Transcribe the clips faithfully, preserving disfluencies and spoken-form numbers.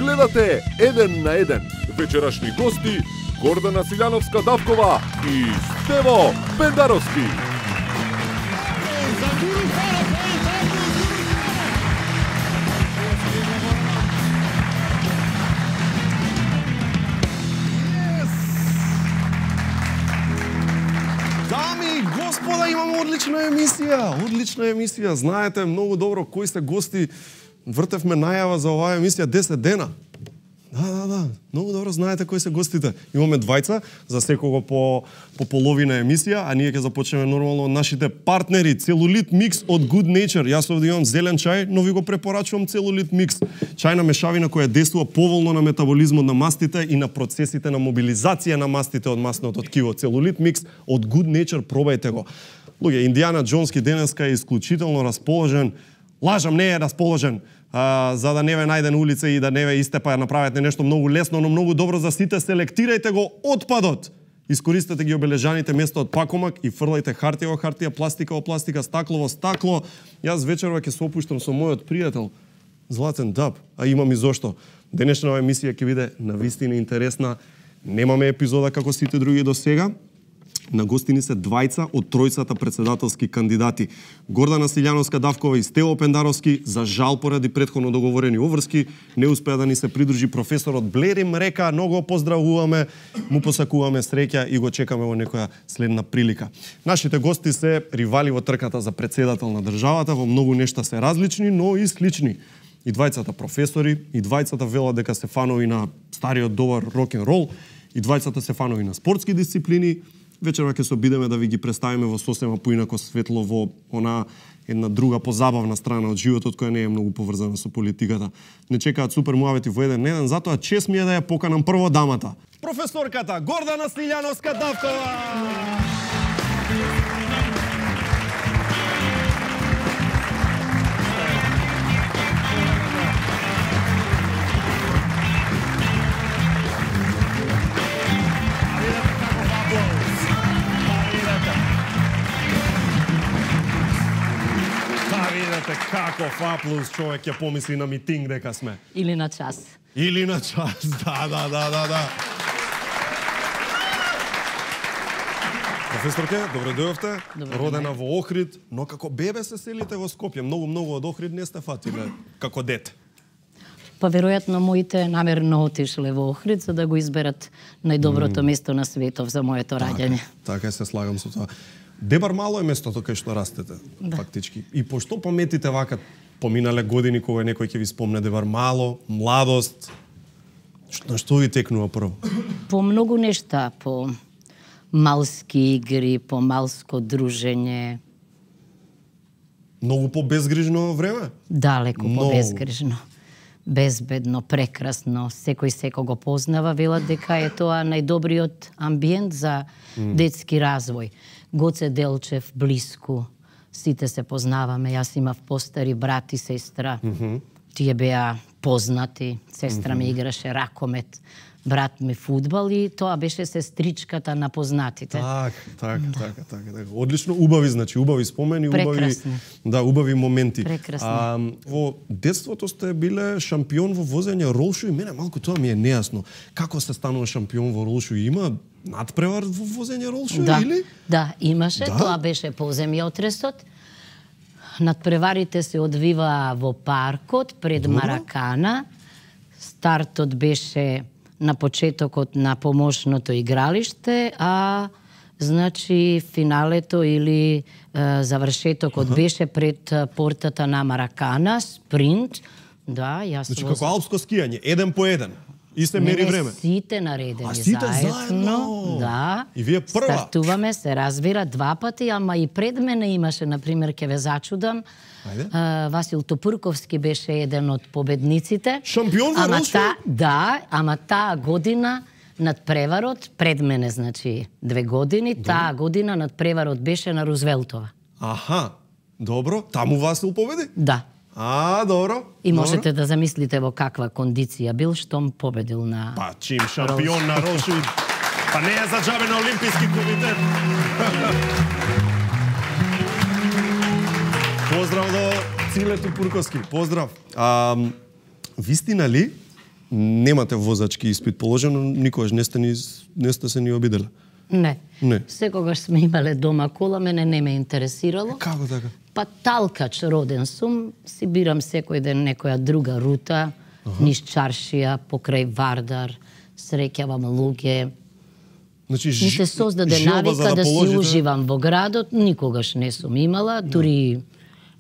Гледате еден на еден. Вечерашни гости Гордана Силјановска-Давкова и Стево Пендаровски. Господа, имаме одлична емисија, одлична емисија. Знаете многу добро кои се гости. Вртевме најава за оваа емисија десет дена. Да, да, да. Многу добро знаете кои се гостите. Имаме двајца, за секого по по половина емисија, а ние ќе започнеме нормално од нашите партнери. Целулит микс од Good Nature. Јас овде имам зелен чај, но ви го препорачувам Целулит микс. Чајна мешавина која действува поволно на метаболизмот на мастите и на процесите на мобилизација на мастите од масното ткиво. Целулит микс од Good Nature, пробајте го. Луѓе, Индијана Џонски денеска е исклучително расположен. Лажам, не е расположен. А, за да не ве најде на улица и да не ве истепа, направете нешто многу лесно, но многу добро за сите. Селектирајте го отпадот. Искористете ги обележаните места од пакомак и фрлајте хартија во хартија, пластика во пластика, стакло во стакло. Јас вечерва ќе се опуштам со мојот пријател Златен Даб, а имам и зошто. Денешна емисија ќе биде навистина интересна. Немаме епизода како сите други до сега. На гостини се двајца од тројцата председателски кандидати. Гордана Силјановска-Давкова и Стево Пендаровски, за жал поради претходно договорени обврски, не успеа да ни се придружи професорот Блерим Река. Много поздравуваме, му посакуваме среќа и го чекаме во некоја следна прилика. Нашите гости се ривали во трката за председател на државата, во многу нешта се различни, но и слични. И двајцата професори, и двајцата велат дека се фанови на стариот добар рок-н-рол, и двајцата се фанови на спортски дисциплини. Вечерва ќе се обидеме да ви ги представиме во сосема поинако светло, во она една друга позабавна страна од животот која не е многу поврзана со политиката. Не чекаат супер муавети во еден на еден, затоа чест ми е да ја поканам прво дамата. Професорката Гордана Силјановска-Давкова. Каков аплауз, човек ќе помисли на митинг дека сме. Или на час. Или на час, да, да, да, да, да. Професорке, добре дојавте. Родена во Охрид, но како бебе се селите во Скопје. Многу, многу од Охрид не сте фатиле како дете. Па веројатно моите намерно отишле во Охрид за да го изберат најдоброто mm. место на светов за моето раѓање. Така, така се слагам со тоа. Дебар мало е местото кај што растете, да. Фактички. И пошто паметите вака поминале години кога некој ќе ви спомне Дебар мало, младост, на што ви текнува прво? По многу нешта, по малски игри, по малско дружење. Многу по безгрижно време? Далеко Много. по безгрижно. Безбедно, прекрасно, секој секој го познава, велат дека е тоа најдобриот амбиент за mm. детски развој. Гоце Делчев, блиску, сите се познаваме, јас имав постари брат и сестра, mm -hmm. тие беа познати, сестра mm -hmm. ми играше ракомет, брат ми фудбал и тоа беше сестричката на познатите. Так, так, да. така, така, така. Одлично, убави, значи, убави спомени, убави, да, убави моменти. Прекрасно. А, во детството сте биле шампион во возење ролшу и мене малку тоа ми е нејасно. Како се станува шампион во ролшу? Има надпревар во возење ролшу да, или? Да, имаше, да? Тоа беше по земјотресот. Надпреварите се одвиваа во паркот пред Добро. Маракана. Стартот беше на почетокот на помошното игралиште, а значи финалето или е, завршетокот ага. беше пред портата на Маракана, спринт. Да, јас значи како алпско скијање, еден по еден. И се мери не, време. Сите наредени а, сите заедно. заедно. Да. И вие прва. Стартуваме, се разбира, два пати, ама и пред мене имаше, например, ке ве зачудам, Uh, Васил Топурковски беше еден од победниците. Шампион во ролшу? Та, да, ама таа година над преварот, пред мене, значи, две години, добро. Таа година над преварот беше на Рузвелтова. Аха, добро. Таму Васил победи? Да. А, добро. И добро. можете да замислите во каква кондиција бил, штом победил на... Па, чим шампион на ролшу, па не е за џабе на Олимписки комитет. Поздрав до Циле Топурковски. Поздрав. А, вистина ли немате возачки испит положен, но никогаш не сте ни не сте се ни обиделе. Не. Не. Секогаш сме имале дома кола, мене не ме интересирало. Како така? Па талкач роден сум, си бирам секој ден некоја друга рута, ага. Низ чаршија, покрај Вардар, среќавам луѓе. Значи, ми се создаде навика да, да положите... си уживам во градот, никогаш не сум имала, дури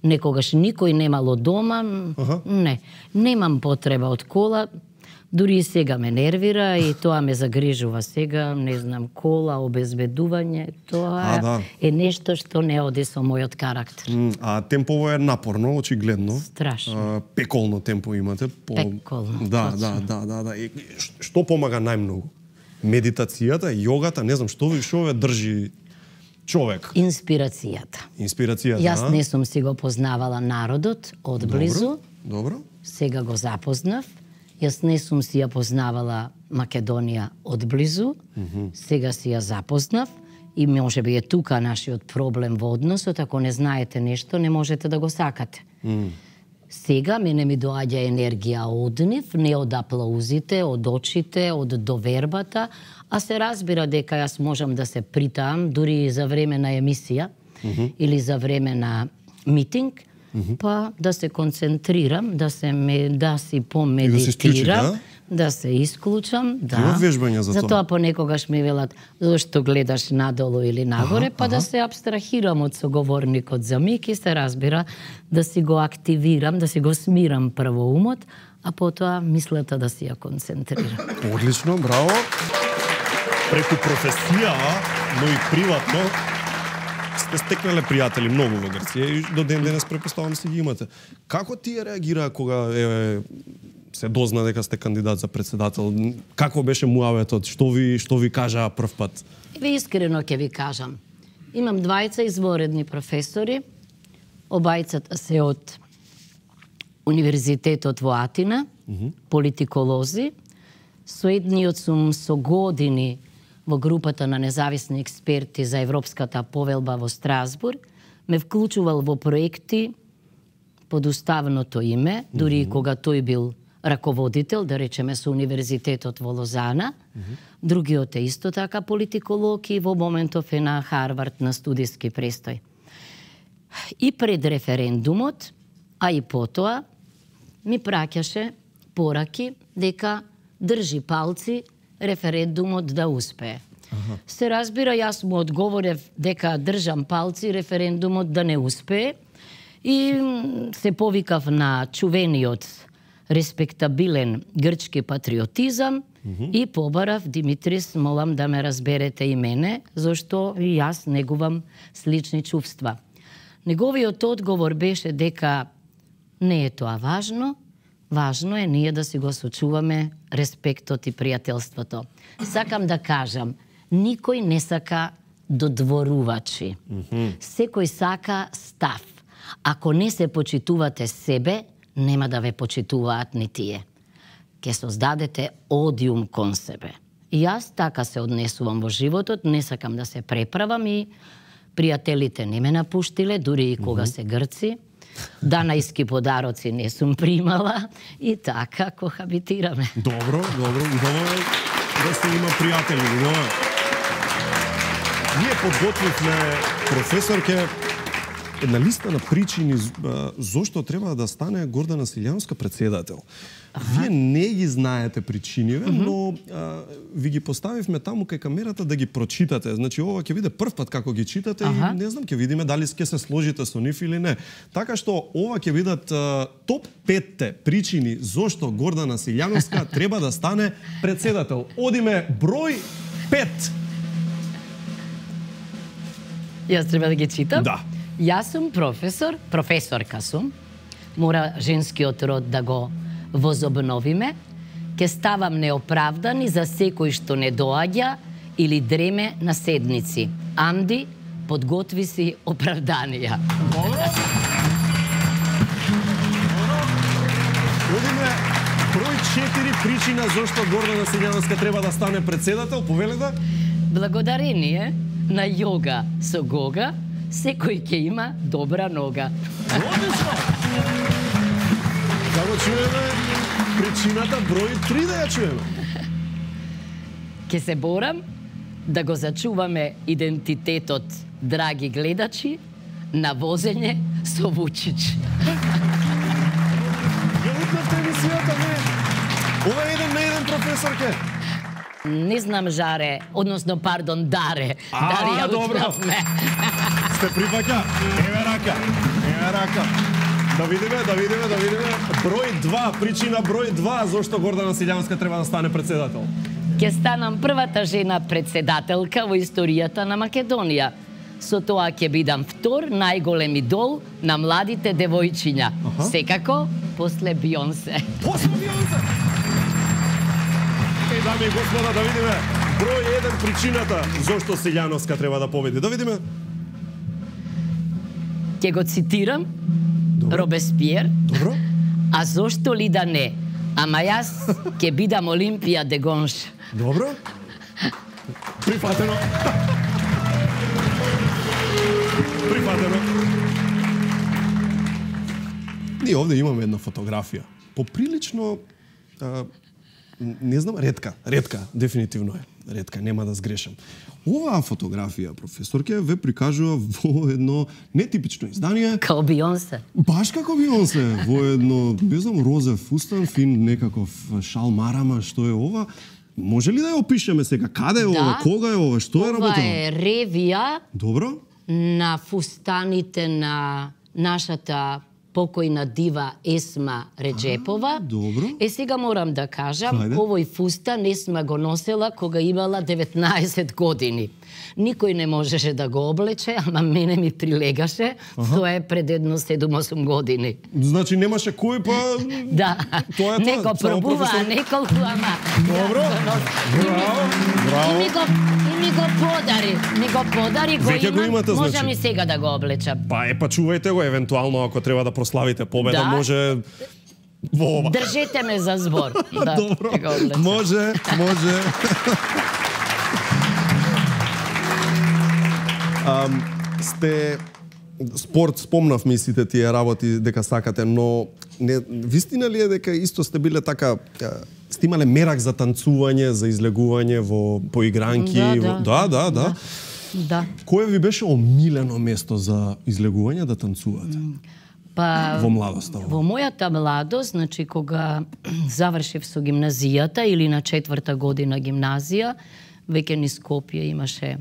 некогаш никој немало дома, ага. Не. Немам потреба од кола, дури и сега ме нервира и тоа ме загрижува сега, не знам, кола, обезбедување, тоа а, да. Е нешто што не оди со мојот карактер. А темпово е напорно, очигледно. Страшно. А, пеколно темпо имате. По... Пеколно. Да, да, да, да, да. И, што помага најмногу? Медитацијата, јогата, не знам, што ви шо ве држи човек? Инспирацијата. Инспирацијата, Јас не сум си го познавала народот одблизу. Добро, добро. Сега го запознав. Јас не сум си ја познавала Македонија одблизу, mm -hmm. Сега си ја запознав и може би е тука нашиот проблем во односот, ако не знаете нешто, не можете да го сакате. Mm. Сега мене ми доаѓа енергија од нив, не од аплаузите, од очите, од довербата, а се разбира дека јас можам да се притаам дури за време на емисија mm -hmm. или за време на митинг, Mm -hmm. па да се концентрирам, да се ме, да си помедитирам, да се, исклучи, да? да се исклучам, да. Има вежбања за тоа. Затоа понекогаш ми велат зошто гледаш надолу или нагоре, аха, па аха. Да се абстрахирам од соговорникот за миг и се разбира да си го активирам, да си го смирам прво умот, а потоа мислата да си ја концентрирам. Одлично, браво. Преку професија, но и приватно, сте стекнале пријатели многу во Грција и до ден денес претпоставам си ги имате. Како тие реагираа кога е, се дозна дека сте кандидат за председател? Како беше муаветот? Што ви што ви кажаа прв пат? Ви искрено ќе ви кажам. Имам двајца изворедни професори. Обајцата се од Универзитетот во Атина, mm -hmm. политиколози. Со едниот сум со години во групата на независни експерти за Европската повелба во Страсбург, ме вклучувал во проекти под уставното име, дури mm -hmm. кога тој бил раководител, да речеме со Универзитетот во Лозана. Mm -hmm. Другиот е исто така политиколог и во моментов е на Харвард на студиски престој. И пред референдумот, а и потоа, ми праќаше пораки дека држи палци референдумот да успее. Ага. Се разбира, јас му одговорев дека држам палци референдумот да не успее и се повикав на чувениот респектабилен грчки патриотизам mm-hmm. и побарав Димитрис, молам да ме разберете и мене, зашто и јас негувам слични чувства. Неговиот одговор беше дека не е тоа важно, важно е ние да си го сочуваме респектот и пријателството. Сакам да кажам, никој не сака додворувачи. Mm-hmm. Секој сака став. Ако не се почитувате себе, нема да ве почитуваат ни тие. Ке создадете одиум кон себе. И јас така се однесувам во животот, не сакам да се преправам и пријателите не ме напуштиле, дури и кога mm-hmm. се грци. Данајски подароци не сум примала и така кохабитираме. Добро, добро, убаво е да се има пријатели, убаво е. Ние подготвивме професорке една листа на причини зошто треба да стане Гордана Силјановска председател. Ага. Вие не ги знаете причиниве, mm-hmm. но а, ви ги поставивме таму кај камерата да ги прочитате. Значи, ова ќе биде прв пат како ги читате ага. и не знам, ќе видиме дали ќе се сложите со нив или не. Така што, ова ќе бидат а, топ петте причини зошто Гордана Силјановска треба да стане председател. Одиме број пет. Јас треба да ги читам? Да. Јас сум професор, професорка сум. Мора женскиот род да го возобновиме. Ке ставам неоправдани за секој што не доаѓа или дреме на седници. Амди, подготви си оправданија. Одиме број четири причина зошто Гордана Силјановска треба да стане председател. Повелете? Благодарение на јога со Гога, секој ќе има добра нога. Одлично! Како чуеме, причината број три да ја чуеме. Ке се борам да го зачуваме идентитетот, драги гледачи, на возење со Вучич. Ја утнавте емисијата, не? Ова е еден на еден, професорке. Не знам, Жаре, односно, пардон, Даре. А, Дали ја добро. утнавме. Сте припаќа? Еве рака, еве рака. Да видиме, да видиме, да видиме. Број два, причина број два, зошто Гордана Силјанска треба да стане председател. Ке станам првата жена председателка во историјата на Македонија. Со тоа ќе бидам втор најголем идол на младите девојчиња. Аха. Секако, после Бионсе. После Бионсе! Е, дами и господа, да видиме број еден причината зошто Силјановска треба да победи. Да видиме. Ќе го цитирам, Добро. Робеспиер, Добро. а зошто ли да не? Ама јас ќе бидам Олимпија де Гонш. Добро. Прифатено. Прифатено. Ние овде имаме една фотографија. Поприлично, а, не знам, ретка, ретка, дефинитивно е. Ретка, нема да сгрешам. Оваа фотографија, професорке, ве прикажува во едно нетипично издание. Као Бионсе. Баш како Бионсе, во едно, не знам, розев фустан, фин некаков шал марама, што е ова? Може ли да ја опишеме сега? Каде е Да. ова? Кога е ова? Што е Ова работа? е ревија Добро? на фустаните на нашата покојна дива Есма Реджепова. А, добро. Е, сега морам да кажам, Хајде. овој фустан Есма го носела кога имала деветнаесет години. Никој не можеше да го облече, ама мене ми прилегаше. Тоа е пред едно седум-осум години. Значи немаше кој, па... Да, Тоа е тоа, некој само пробува, професор. неколку, ама... Добро. Браво, И браво. ми го, и ми го подари, ми го подари, го Веќе го имам, имате, можам значи. и сега да го облечам. Па е, па чувајте го, евентуално ако треба да прославите победа, Да. може во ова. Држете ме за збор. Да, Добро, да го облечам. може, може. Ам, сте спорт, спомнав мислите тие работи дека сакате, но не вистина ли е дека исто сте биле така а, сте имале мерак за танцување, за излегување во поигранки? Да, во... да, да, да, да. Да. Кое ви беше омилено место за излегување да танцувате? Па Во младоста. во мојата младост, значи кога завршив со гимназијата или на четврта година гимназија, веќе низ Скопје имаше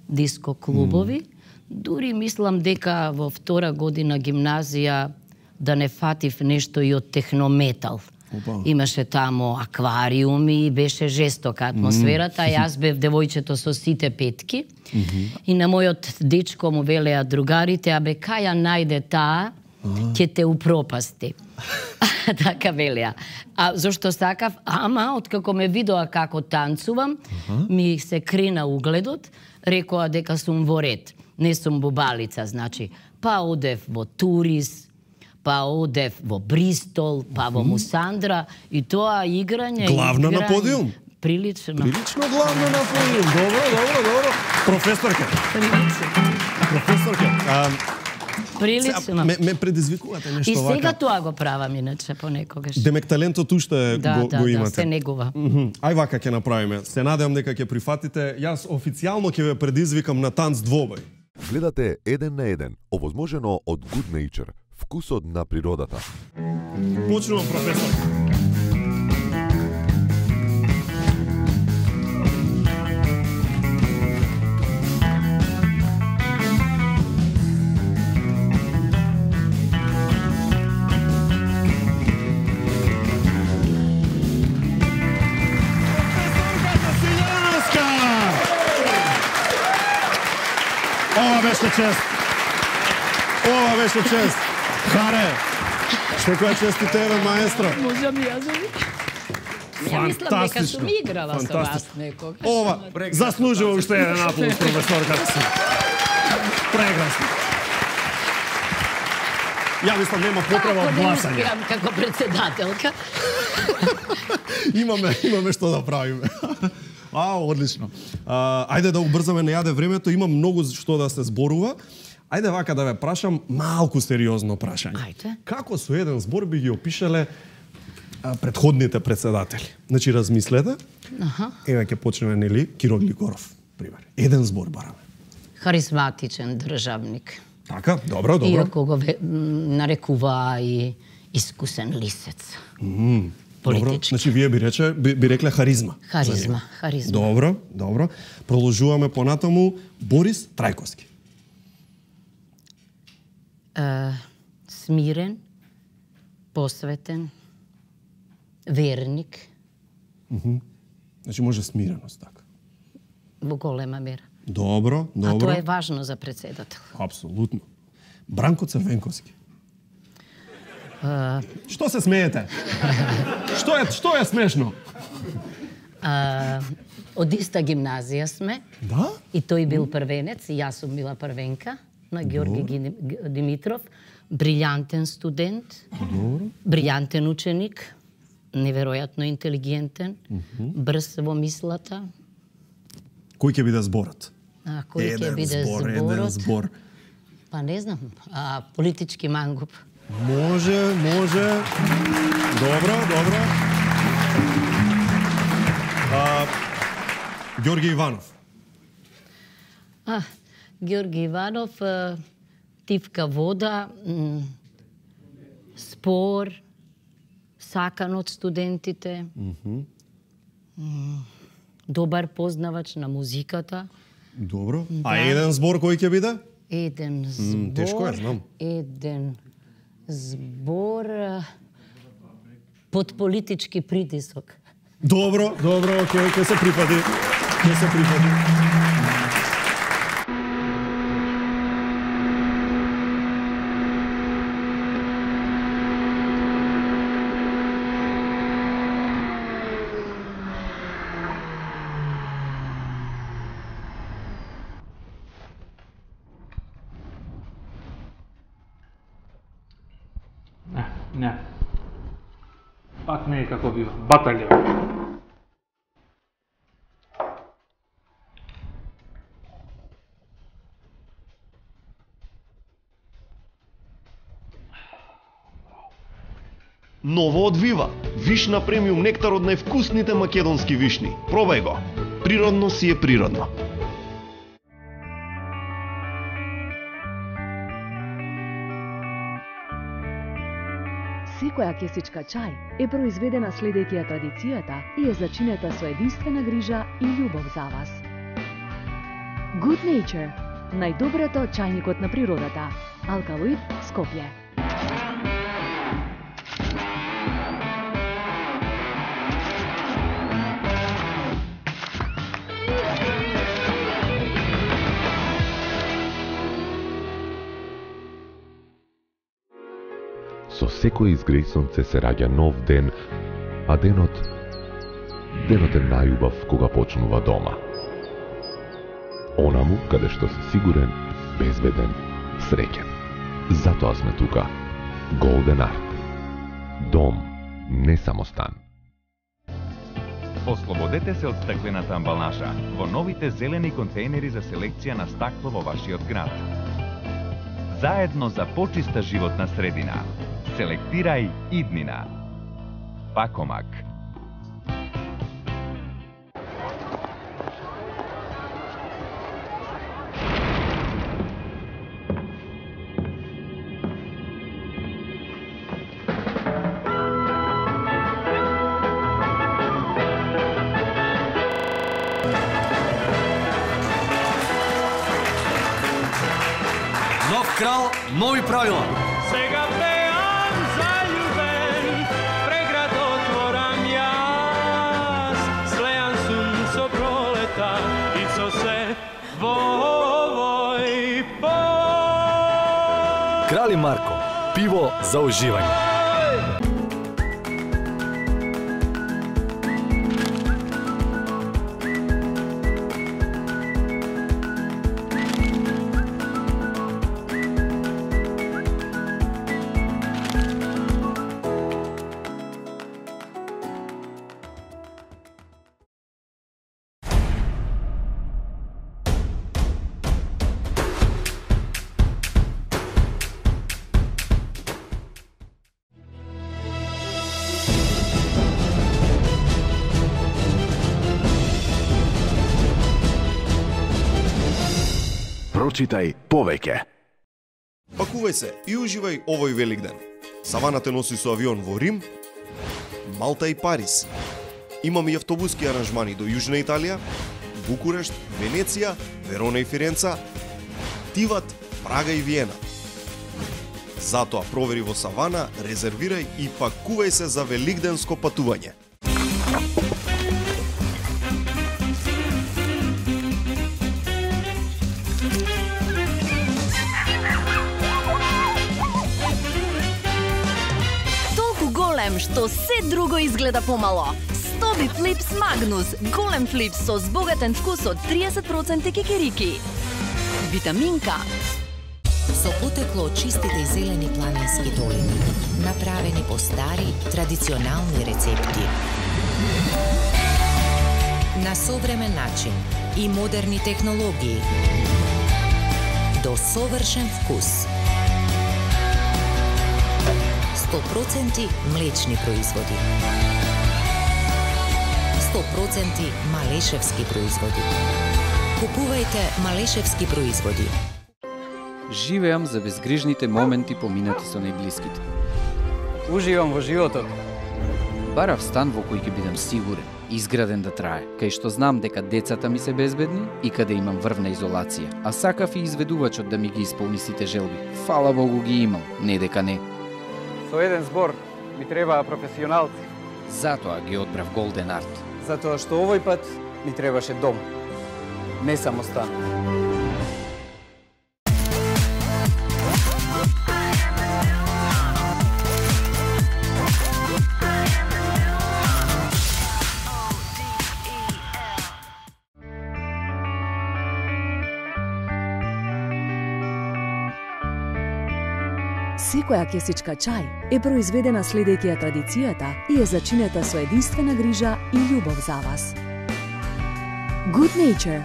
диско клубови. Mm. Дури мислам дека во втора година гимназија да не фатив нешто и од технометал. Опа. Имаше тамо аквариуми и беше жестока атмосферата. Mm. Јас бев девојчето со сите петки. Mm -hmm. И на мојот дечко му велеа другарите, абе кај ја најде таа, ќе те упропасти. Така велеа. А зошто сакав? Ама, откако ме видоа како танцувам, ми се крена угледот, рекоа дека сум во ред. Не сум бубалица, значи. Па одев во Турис, па одев во Бристол, па во Мусандра и тоа играње... Главна на играње, подиум? Прилично. Прилично главно на подиум. Добро, добро, добро. Професорке, Прилично. професорке. А, Прилично. ме, ме предизвикувате нешто И вака. сега тоа го правам, иначе, понекогаш. Демек талентот уште Да, го, да, го да, имате. се негува. Мгм. Ај вака ќе направиме. Се надевам дека ќе прифатите. Јас официјално ќе ве предизвикам на танц двобој. Гледате еден на еден, овозможено од Good Nature, вкусот на природата. Почнувам, професор. Ова беше чест. Ова беше чест. Харе. Што која чести тебе, маестро. Можам и јас. Ја мислам дека Фантастично. сум играла со вас Фантастично. некогаш. Ова заслужува уште еден аплауз, професор Каци. Прекрасно. Ја мислам нема потреба од Ако не гласање. успеам како председателка, Имаме, имаме што да правиме. А, одлично. А, ајде да убрзаме, не јаде времето, има многу што да се зборува. Ајде вака да ве прашам малку сериозно прашање. Ајде. Како со еден збор би ги опишале а, предходните председатели. Значи размислете. Аха. Ева ќе почнеме нели Киро Глигоров, пример. Еден збор бараме. Харизматичен државник. Така, добро, добро. Иако го ве- м, нарекуваа и искусен лисец. Добро. Политички. Значи вие би рече би, би рекле харизма. Харизма, харизма. Добро, добро. Продолжуваме понатаму Борис Трајковски. Е, смирен, посветен, верник, Значи може смиреност така. во голема мера. Добро, А добро. тоа е важно за председател. Апсолутно. Бранко Црвенковски. Што се смеете? Што е што е смешно? А, од иста гимназија сме Да? и тој бил првенец и јас сум била првенка на Георги Ги- Г- Димитров. Брилјантен студент, брилјантен ученик, неверојатно интелигентен, брз во мислата. Кој ќе биде зборот? А, кој ќе Еден биде збор, еден зборот? збор. Па не знам, а, политички мангуп. Може, може. Добро, добро. А, Ѓорги Иванов. А, Георги Иванов, а, тивка вода, м, спор, сакан од студентите, м, добар познавач на музиката, Добро. А еден збор кој ќе биде? еден збор, тешко е, знам. еден збор а, под политички притисок. Добро, добро, окей, ќе се припади. Ќе се припади. Не, не. Пак не е како бива. Баталија. Ново од Вива. Вишна премиум нектар од највкусните македонски вишни. Пробај го. Природно си е природно. Секоја кесичка чај е произведена следејќи ја традицијата и е зачинета со единствена грижа и љубов за вас. Good Nature, најдоброто од чајникот на природата. Алкалоид, Скопје. Со секој изгреј сонце се раѓа нов ден, а денот, денот е најубав кога почнува дома. Онаму каде што си сигурен, безбеден, среќен. Затоа сме тука. Golden Art. Дом, не само стан. Ослободете се од стеклената амбалажа во новите зелени контејнери за селекција на стакло во вашиот град. Заедно за почиста животна средина. Селектирај иднина. Пакомак. Нов крал, нови правила. Сега пеам заљубен, преград отворам јас. Слејан сум со пролета и со се во овој пот. Крали Марко, пиво за уживање. Прочитај повеќе. Пакувај се и уживај овој Великден. Савана те носи со авион во Рим, Малта и Париз. Имаме и автобуски аранжмани до Јужна Италија, Букурешт, Венеција, Верона и Фиренца, Тиват, Прага и Виена. Затоа провери во Савана, резервирај и пакувај се за великденско патување. Толку голем што се друго изгледа помало. Стоби Флипс Магнус, голем флипс со збогатен вкус од триесет проценти кикерики. Витаминка. Со потекло од чистите и зелени планински долини, направени по стари, традиционални рецепти. На современ начин и модерни технологии. До совршен вкус. сто проценти млечни производи. сто проценти малешевски производи. Купувајте малешевски производи. Живеам за безгрижните моменти поминати со најблиските. Уживам во животот. Барав стан во кој ќе бидам сигурен, изграден да трае, кај што знам дека децата ми се безбедни и каде имам врвна изолација, а сакав и изведувачот да ми ги исполни сите желби. Фала Богу ги имам, не дека не. Со еден збор ми требаа професионалци. Затоа ги одбрав Golden Art. Затоа што овој пат ми требаше дом, не само стан. Секоја кесичка чај е произведена следејќи ја традицијата и е зачинета со единствена грижа и љубов за вас. Good Nature,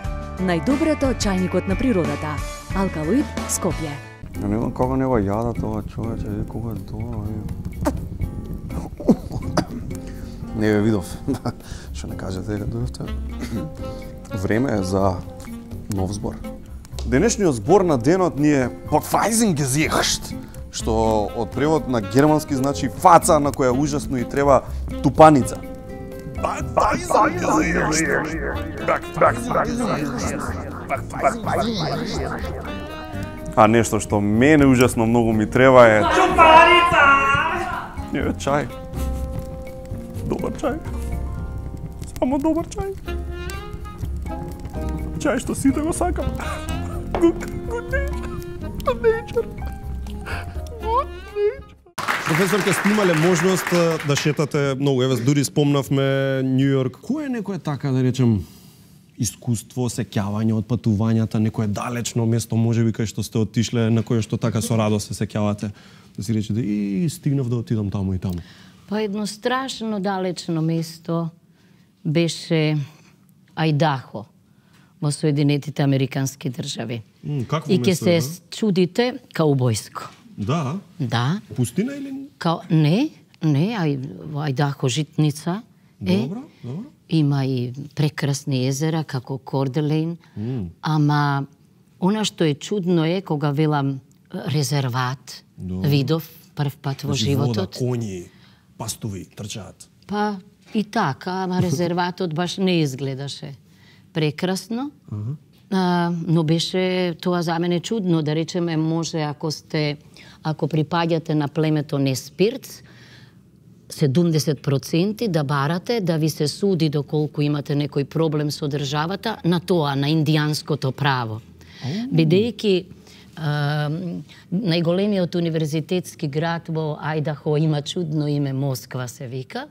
најдоброто чајникот на природата. Алкалоид, Скопје. Ja ne znam kako ne jada toga čovječa, vidi kako je dobro. Не ве видов. Што не кажете дека дојдовте? Време е за нов збор. Денешниот збор на денот ни е Поквајзингезихшт, што од превод на германски значи фаца на која ужасно и треба тупаница. А нешто што мене ужасно многу ми треба е Тупаница! Не, чај. Добар чај. Само добар чај. Чај што сите го сакам. Good, good nature. Good nature. Good nature. Професор, ке сте имале можност да шетате многу, еве дури спомнавме Њу Јорк. Кој е некое така да речем искуство, сеќавање од патувањата, некое далечно место можеби кај што сте отишле, на кое што така со радост се сеќавате? Да си речете и стигнав да отидам таму и таму. Па едно страшно далечно место беше Ајдахо во Соединетите Американски држави. М, какво и ќе место се е, да? чудите каубојско. Да? Да. Пустина или? Као, не, не, ај, во Ајдахо житница е. Добро, добро. Има и прекрасни езера како Корделейн, Mm. ама она што е чудно е кога велам резерват, Добро. видов прв пат во Значи, животот. вода, коњи, пастови, трчаат. Па и така, ама резерватот баш не изгледаше прекрасно. Аха. А, но беше тоа за мене чудно, да речеме, може ако сте, ако припаѓате на племето Неспирц, седумдесет проценти да барате, да ви се суди доколку имате некој проблем со државата, на тоа, на индијанското право. Бидејќи најголемиот универзитетски град во Ајдахо има чудно име, Москва се вика,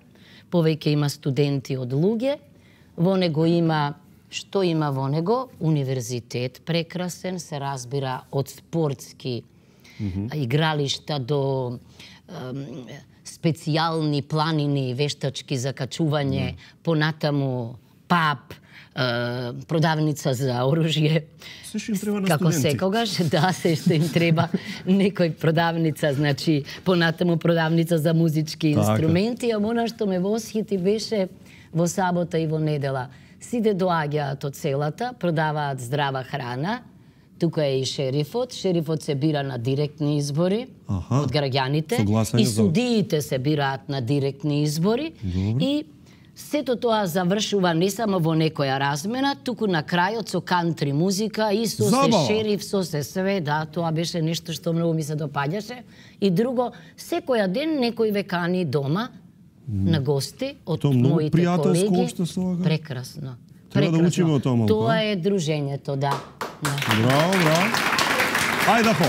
повеќе има студенти од луѓе, во него има, што има во него? Универзитет прекрасен, се разбира од спортски Мгм. игралишта до ем, специјални планини вештачки за качување, понатаму паб, е, продавница за оружје. Се што им треба на Како студенти. секогаш, да, се што им треба некој продавница, значи понатаму продавница за музички Така. инструменти, а она што ме восхити беше во сабота и во недела. Сите доаѓаат од селата, продаваат здрава храна, тука е и шерифот. Шерифот се бира на директни избори Аха. од граѓаните Согласен и за- судиите се бираат на директни избори. Добро. И сето тоа завршува не само во некоја размена, туку на крајот со кантри музика и со Забава. се шериф, со се све, да, тоа беше нешто што многу ми се допаѓаше. И друго, секоја ден некој ве кани дома на гости од Тоа многу моите пријателско колеги. општество, ага. Прекрасно. Треба да Прекрасно. учиме од тоа малку, Тоа а? е дружењето, да. да. Браво, браво. Ајде по.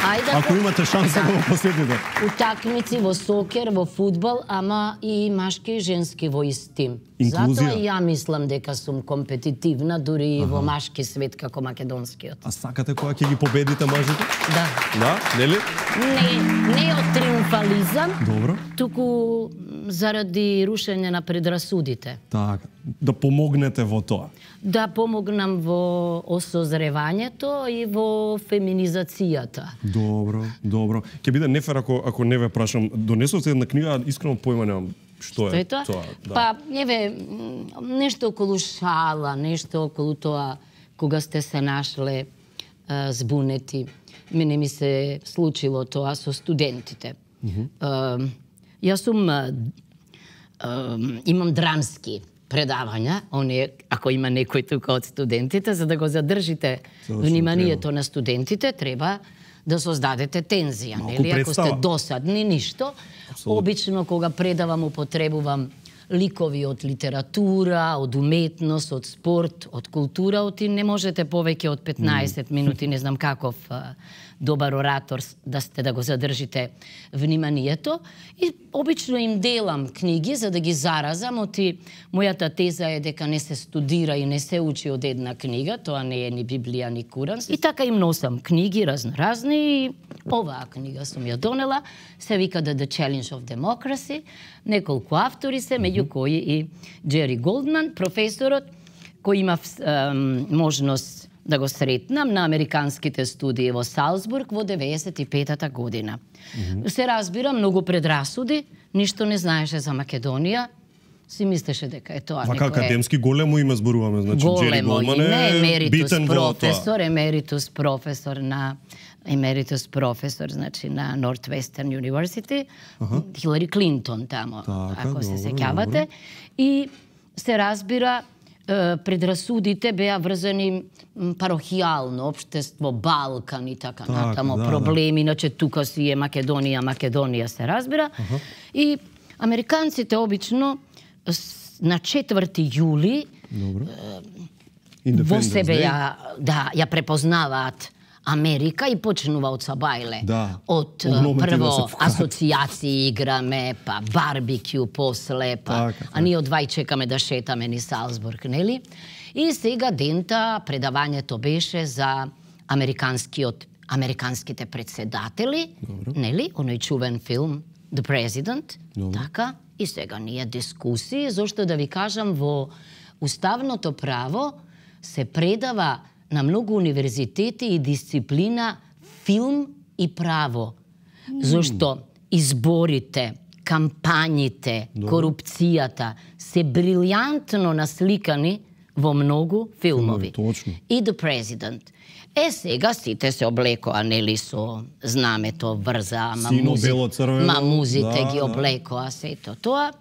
Ајде, Ако имате шанса да го посетите. Утакмици во сокер, во фудбал, ама и машки и женски во ист тим. Инклузија. Затоа и ја мислам дека сум компетитивна, дури и во машки свет како македонскиот. А сакате кога ќе ги победите мажите? Да. Да, нели? Не, не од триумфализам, Добро. туку заради рушење на предрасудите. Така, да помогнете во тоа. Да помогнам во осозревањето и во феминизацијата. Добро, добро. Ќе биде нефер ако ако не ве прашам, донесовте една книга, искрено појма немам што Што е е тоа? да. Па, еве, м, нешто околу шала, нешто околу тоа кога сте се нашле а, збунети. Мене ми се случило тоа со студентите. А, јас сум а, а, имам драмски предавања, оние, ако има некој тука од студентите, за да го задржите Точно, вниманието на студентите, треба да создадете тензија, Малку нели? Ако сте представа. досадни, ништо. Обично кога предавам употребувам ликови од литература, од уметност, од спорт, од култура, оти не можете повеќе од петнаесет минути, не знам каков а, добар оратор с- да сте да го задржите вниманието. И обично им делам книги за да ги заразам, оти мојата теза е дека не се студира и не се учи од една книга, тоа не е ни Библија, ни Куран. И така им носам книги разноразни и оваа книга сум ја донела, се вика The, The Challenge of Democracy, неколку автори се, меѓу кои и Джери Голдман, професорот, кој имав ем, можност да го сретнам на американските студии во Салцбург во деветдесет и петата година. Се разбира, многу предрасуди, ништо не знаеше за Македонија, си мислеше дека е тоа Вака некое... академски големо име зборуваме, значи Джери големо Голман име, е емеритус битен во тоа. професор, емеритус професор на емеритус професор, значи на Northwestern University, Аха. Хилари Клинтон тамо, Така, ако се добро, сеќавате. добро. И се разбира, е, предрасудите беа врзани м, парохијално, општество, Балкан и така, Така, натамо, да, да. проблеми, иначе тука си е Македонија, Македонија се разбира. Аха. И американците обично с- на четврти јули Добро. во Independence себе Day. ја, да, ја препознаваат Америка и почнува од Сабајле. Да. Од е, Огромно ти да прво се вкарат. асоцијации играме, па барбекю после, па Така, а ние од вај чекаме да шетаме ни Салцбург, нели? И сега дента предавањето беше за американскиот американските председатели, Добро. нели? Оној чувен филм The President, Добро. така? И сега ние дискусии, зашто да ви кажам, во уставното право се предава на многу универзитети и дисциплина филм и право. Зашто изборите, кампањите, корупцијата се брилјантно насликани во многу филмови. Точно. И The President. Е, сега сите се облекоа, нели, со знамето врза, ма, Сино, музи... бело, црвено, ма музите да, ги да. облекоа, сето тоа.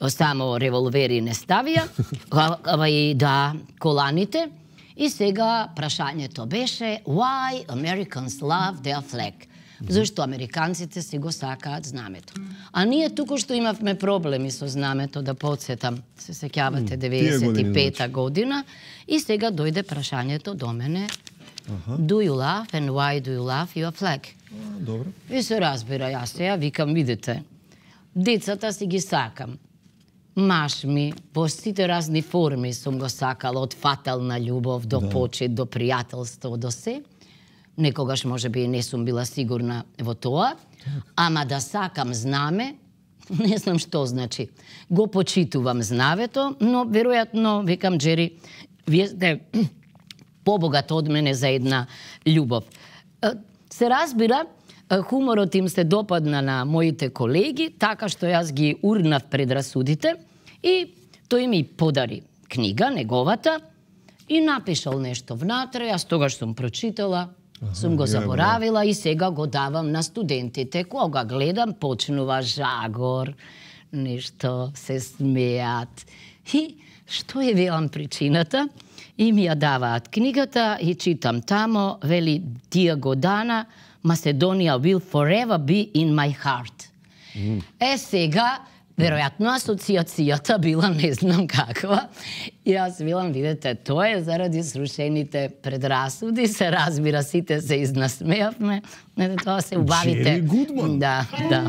Само револвери не ставија, а- ама и да, коланите. И сега прашањето беше Why Americans love their flag? Зашто американците си го сакаат знамето. А ние туку што имавме проблеми со знамето, да подсетам, се сеќавате, деветдесет и пета година, и сега дојде прашањето до мене Do you love and why do you love your flag? Добро. И се разбира, јас сега викам, видите, децата си ги сакам. Маш ми, во сите разни форми сум го сакала, од фатална љубов до Да. почит, до пријателство, до се. Некогаш може би не сум била сигурна во тоа, ама да сакам знаме, не знам што значи. Го почитувам знавето, но веројатно, викам Джери, вие сте побогат од мене за една љубов. Е, Се разбира, е, хуморот им се допадна на моите колеги, така што јас ги урнав предрасудите и тој ми подари книга, неговата, и напишал нешто внатре, јас тогаш сум прочитала, сум го заборавила и сега го давам на студентите. Кога гледам, почнува жагор, нешто се смеат. И што е, велам, причината? И ми ја даваат книгата и читам тамо, вели, тие година Macedоnia will forever be in my heart. Mm. Е, сега, веројатно асоциацијата била не знам каква. И јас велам, видете, тоа е заради срушените предрасуди, се разбира, сите се изнасмеавме. Не, тоа се убавите. Джери Гудман. Да, да.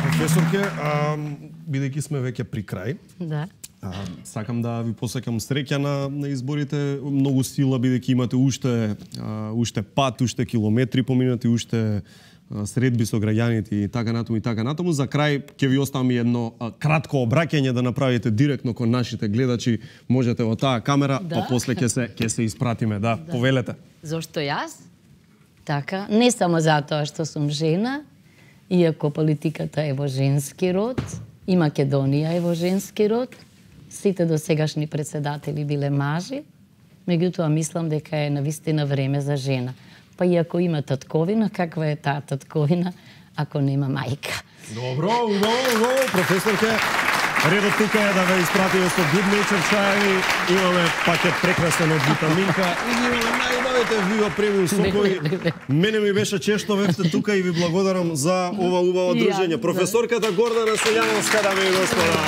Професорке, бидејќи сме веќе при крај, Да. а, сакам да ви посекам среќа на, на изборите, многу сила, бидејќи имате уште, а, уште пат, уште километри поминати, уште а, средби со граѓаните и така натаму и така натаму. За крај ќе ви оставам и едно а, кратко обраќање да направите директно кон нашите гледачи. Можете во таа камера, Да. па после ќе се ќе се испратиме. Да, Да. повелете. Зошто јас? Така, не само затоа што сум жена, иако политиката е во женски род, и Македонија е во женски род, сите досегашни председатели биле мажи, меѓутоа мислам дека е навистина време за жена. Па иако има татковина, каква е таа татковина ако нема мајка? Добро, убаво, убаво, професорке. Редот тука е да ве испратиме со Good Nature чаеви. Имаме пакет прекрасен од витаминка и ги имаме најубавите Viva Premium сокови. Мене ми беше чест што бевте тука и ви благодарам за ова убаво дружење. Професорката Гордана Селјановска, дами и господа.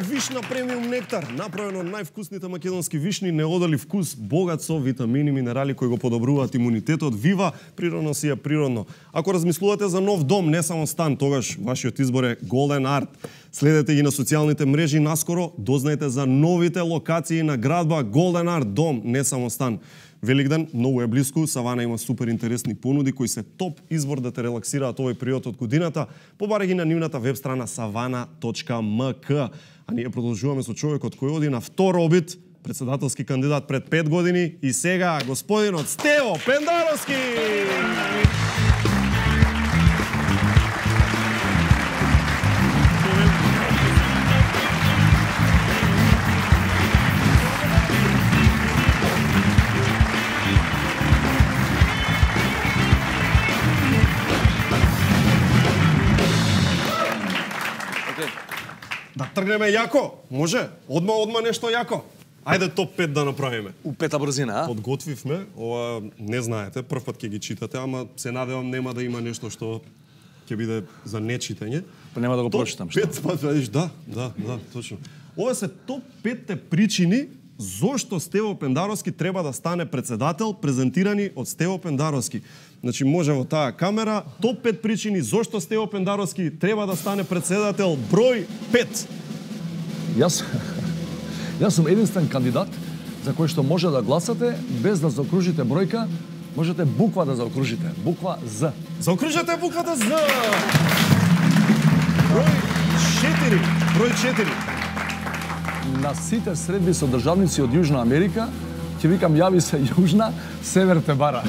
Вишна премиум нектар, направен од највкусните македонски вишни, неодолив вкус, богат со витамини и минерали кои го подобруваат имунитетот. Вива, природно си е природно. Ако размислувате за нов дом, не само стан, тогаш вашиот избор е Golden Art. Следете ги на социјалните мрежи, наскоро дознаете за новите локации на градба Golden Art, дом, не само стан. Великден многу е блиску, Савана има супер интересни понуди кои се топ избор да те релаксираат овој период од годината. Побарај ги на нивната веб страна savana точка m k. А ние продолжуваме со човекот кој оди на втор обид, председателски кандидат пред пет години и сега господинот Стево Пендаровски. Да тргнеме јако? Може? Одма, одма нешто јако. Ајде топ пет да направиме. У пета брзина, а? Подготвивме, ова не знаете, прв пат ќе ги читате, ама се надевам нема да има нешто што ќе биде за нечитање. Па нема да го прочитам, што? Пет, па видиш, да, да, да, точно. Ова се топ петте причини зошто Стево Пендаровски треба да стане председател, презентирани од Стево Пендаровски. Значи, може во таа камера, топ пет причини зошто Стево Пендаровски треба да стане председател, број пет. Јас, јас сум единствен кандидат за кој што може да гласате без да заокружите бројка, можете буква да заокружите. Буква З. Заокружете буквата З. Број четири. Број четири. На сите средби со државници од Јужна Америка, ќе викам јави се Јужна, Север те бара. Да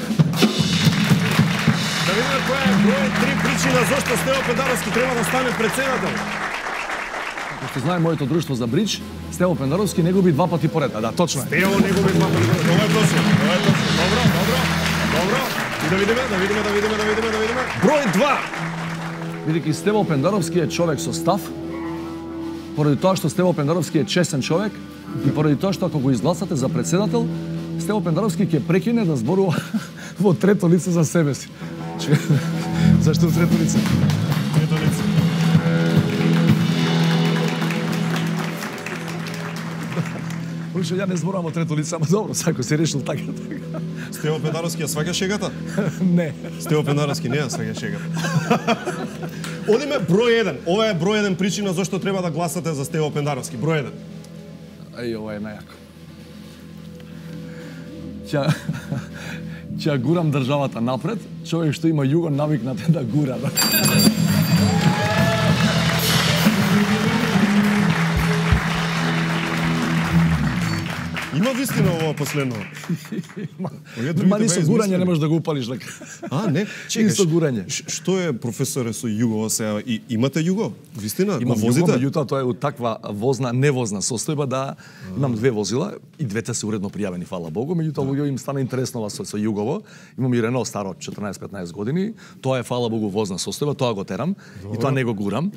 видиме која е број три причина зошто Стево Пендаровски треба да стане председател. Како што знае моето друштво за бридж, Стево Пендаровски не губи два пати поред. А да, точно е. Стево не губи два пати поред. Ова е точно. Ова е точно. Добро, добро. Добро. И да видиме, да видиме, да видиме, да видиме, да видиме. Број два. Бидејќи Стево Пендаровски е човек со став, поради тоа што Стево Пендаровски е честен човек и поради тоа што ако го изгласате за председател, Стево Пендаровски ќе прекине да зборува во трето лице за себе си. Зашто трето лице? Трето лице. обично ја не зборувам од трето лице, ама добро, сако се решил така така. Стево Пендаровски ја сваќа шегата? Не. Стево Пендаровски не ја сваќа шегата. Одиме број еден. Ова е број еден причина зашто треба да гласате за Стево Пендаровски. Број еден. Ај, ова е најако. Ќе ќе гурам државата напред, човек што има југо навикнат е да гура. Да. Има вистина ова последно. Ма ни со гурање не можеш да го упалиш така. А, не? Чекаш. Ни со гурање. Што е, професоре, со југо сега? И, имате југо? Вистина? Имам го возите? југо, меѓутоа тоа е од таква возна, невозна состојба да имам две возила и двете се уредно пријавени, фала Богу, меѓутоа луѓе им стана интересно со, со југово. Имам и Рено старо четрнаесет-петнаесет години. Тоа е фала Богу возна состојба, тоа го терам. Добро. И тоа не го гурам.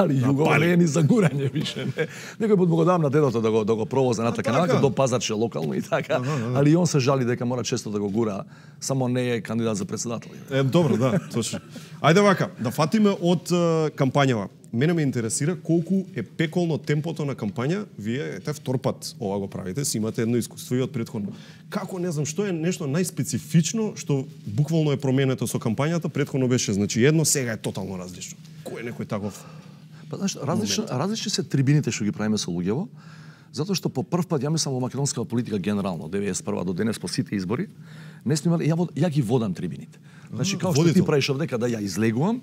Али југово не е ни за гурање више, не. Некој пат го дам на дедото да го да го провозе на така нака до пазарче локално и така. Ага, ага. Али он се жали дека мора често да го гура, само не е кандидат за председател. Е, добро, да, точно. Ајде вака, да фатиме од uh, кампањава. Мене ме интересира колку е пеколно темпото на кампања. Вие ете втор пат ова го правите, си имате едно искуство и од претходно. Како, не знам, што е нешто најспецифично што буквално е променето со кампањата? Претходно беше, значи едно, сега е тотално различно. Кој е некој таков? Па знаеш, различно, различни се трибините што ги правиме со луѓево. Затоа што по прв пат ја мислам во македонската политика генерално, деветдесет и прва до денес по сите избори, не сме имали, ја, ја ги водам трибините. Значи, као што ти правиш овде, када ја излегувам,